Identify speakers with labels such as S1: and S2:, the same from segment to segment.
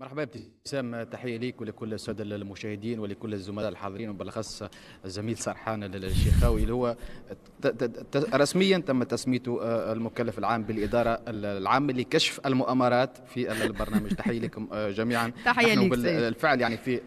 S1: مرحبا ابتسام، تحية ليك ولكل السادة المشاهدين ولكل الزملاء الحاضرين، وبالاخص الزميل سرحان الشيخاوي اللي هو رسميا تم تسميته المكلف العام بالادارة العامة لكشف المؤامرات في البرنامج. تحية لكم جميعا.
S2: تحية لك.
S1: بالفعل يعني في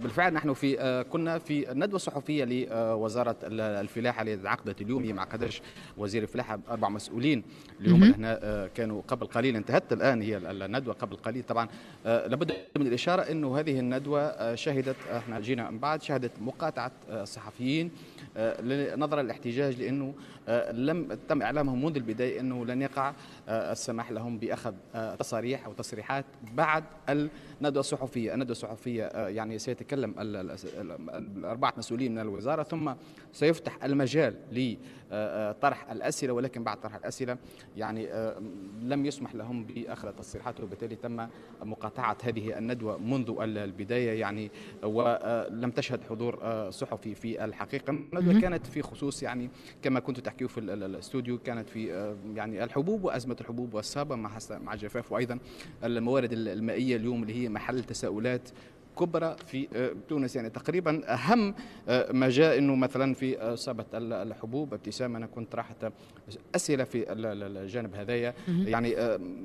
S1: بالفعل نحن في كنا في الندوة الصحفية لوزارة الفلاحة اللي انعقدت اليوم، هي ما عقدش وزير الفلاحة، 4 مسؤولين اليوم هنا كانوا قبل قليل، انتهت الآن هي الندوة قبل قليل. طبعا لابد من الإشارة أنه هذه الندوة شهدت، احنا جينا من بعد، شهدت مقاطعة الصحفيين نظرا للاحتجاج، لأنه لم تم إعلامهم منذ البداية أنه لن يقع السماح لهم بأخذ تصاريح أو تصريحات بعد الندوة الصحفية. الندوة الصحفية يعني سيتكلم الأربعة مسؤولين من الوزارة، ثم سيفتح المجال لطرح الأسئلة، ولكن بعد طرح الأسئلة يعني لم يسمح لهم بأخذ التصريحات، وبالتالي تم مقاطعة هذه الندوة منذ البداية يعني، ولم تشهد حضور صحفي في الحقيقة. الندوة كانت في خصوص يعني كما كنت تحكيه في الاستوديو، كانت في يعني الحبوب وأزمة الحبوب والصابة مع الجفاف، وأيضا الموارد المائية اليوم اللي هي محل تساؤلات كبرى في تونس. يعني تقريبا أهم ما جاء أنه مثلا في صابة الحبوب، ابتسام أنا كنت طرحت أسئلة في الجانب هذايا. يعني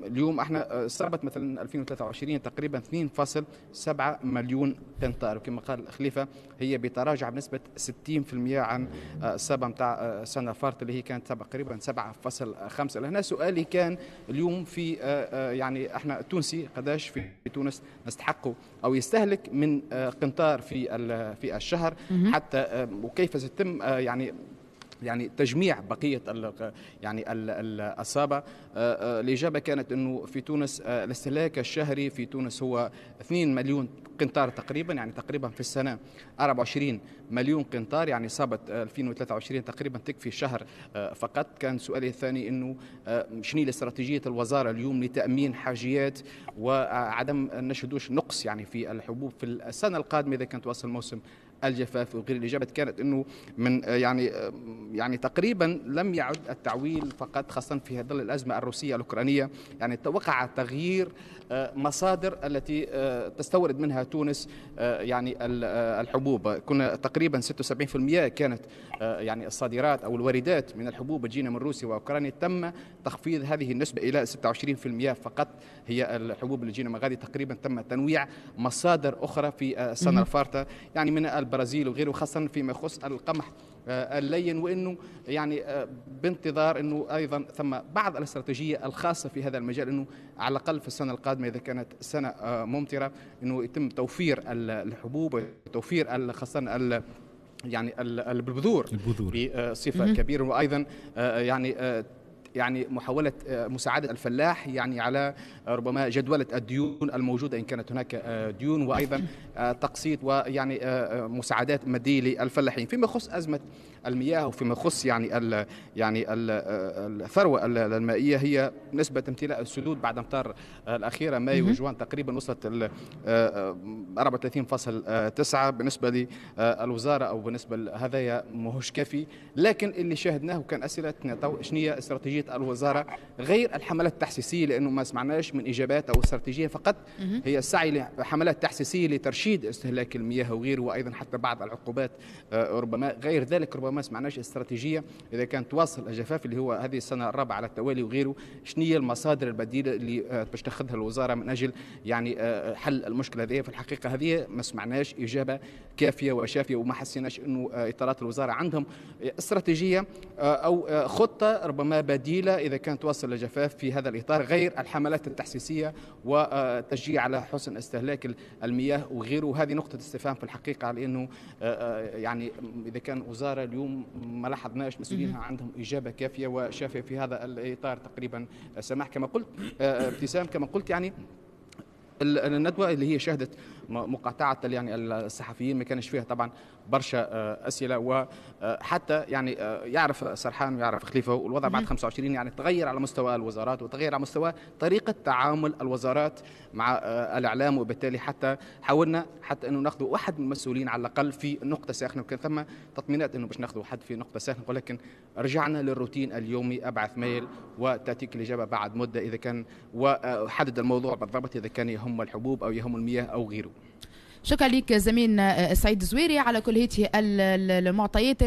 S1: اليوم احنا صابت مثلا 2023 تقريبا 2.7 مليون قنطار، وكما قال خليفة هي بتراجع بنسبة 60% عن الصابة نتاع السنة الفارطة اللي هي كانت تقريبا 7.5. لهنا سؤالي كان اليوم في يعني احنا تونسي قداش في تونس نستحقه أو يستهلك من قنطار في الشهر حتى، وكيف سيتم يعني تجميع بقية يعني الصابة. الإجابة كانت أنه في تونس الاستهلاك الشهري في تونس هو 2 مليون قنطار تقريبا، يعني تقريبا في السنة 24 مليون قنطار، يعني صابت 2023 تقريبا تكفي شهر فقط. كان سؤالي الثاني أنه شنو استراتيجية الوزارة اليوم لتأمين حاجيات وعدم نشهدوش نقص يعني في الحبوب في السنة القادمة إذا كانت توصل موسم الجفاف وغير. الإجابة كانت أنه من يعني تقريبا لم يعد التعويل فقط، خاصة في ظل الأزمة الروسية الأوكرانية، يعني توقع تغيير مصادر التي تستورد منها تونس يعني الحبوب. كنا تقريبا 76% كانت يعني الصادرات أو الواردات من الحبوب تجينا من روسيا وأوكرانيا، تم تخفيض هذه النسبة إلى 26% فقط هي الحبوب اللي تجينا من غادي. تقريبا تم تنويع مصادر أخرى في السنة الفارطة يعني من البرازيل وغيره، خاصة فيما يخص القمح اللين، وانه يعني بانتظار انه ايضا ثم بعض الاستراتيجية الخاصة في هذا المجال، انه على الاقل في السنة القادمة اذا كانت سنة ممطره انه يتم توفير الحبوب وتوفير خاصة يعني البذور بصفة كبيرة، وايضا يعني محاولة مساعدة الفلاح يعني على ربما جدولة الديون الموجودة إن كانت هناك ديون، وأيضا تقسيط ويعني مساعدات مادية للفلاحين. فيما يخص أزمة المياه وفيما يخص يعني ال يعني ال الثروة المائية، هي نسبة امتلاء السدود بعد أمطار الأخيرة مايو وجوان تقريبا وصلت 34.9 بالنسبة للوزارة أو بالنسبة لهذايا ماهوش كافي. لكن اللي شاهدناه وكان أسئلتنا شنو هي استراتيجية الوزارة غير الحملات التحسيسية، لأنه ما سمعناش من إجابات أو استراتيجية، فقط هي السعي لحملات تحسيسية لترشيد استهلاك المياه وغيره، وأيضا حتى بعض العقوبات ربما غير ذلك. ربما ما سمعناش استراتيجية إذا كان تواصل الجفاف اللي هو هذه السنة الرابعة على التوالي وغيره، شنو هي المصادر البديلة اللي باش تاخذها الوزارة من أجل يعني حل المشكلة هذه. في الحقيقة هذه ما سمعناش إجابة كافية وشافية، وما حسيناش أنه إطارات الوزارة عندهم استراتيجية أو خطة ربما بديلة إذا كان تواصل الجفاف في هذا الإطار غير الحملات التحسيسية وتشجيع على حسن استهلاك المياه وغيره. هذه نقطة استفهام في الحقيقة، على أنه يعني إذا كان وزارة اليوم ما لاحظناش مسؤولينها عندهم إجابة كافية وشافية في هذا الإطار تقريبا. سماح كما قلت، ابتسام كما قلت، يعني الندوة اللي هي شهدت مقاطعه يعني الصحفيين، ما كانش فيها طبعا برشا اسئلة، وحتى يعني يعرف سرحان ويعرف خليفة والوضع بعد 25 يعني تغير على مستوى الوزارات وتغير على مستوى طريقه تعامل الوزارات مع الاعلام، وبالتالي حتى حاولنا حتى انه ناخذ واحد من المسؤولين على الاقل في نقطة ساخنة، وكان ثم تطمينات انه باش ناخذ حد في نقطة ساخنة، ولكن رجعنا للروتين اليومي، ابعث mail وتاتيك الاجابة بعد مده اذا كان، وحدد الموضوع بالضبط اذا كان يهم الحبوب او يهم المياه او غيره.
S2: شكرا لك زميلنا سعيد الزويري على كل هذه المعطيات.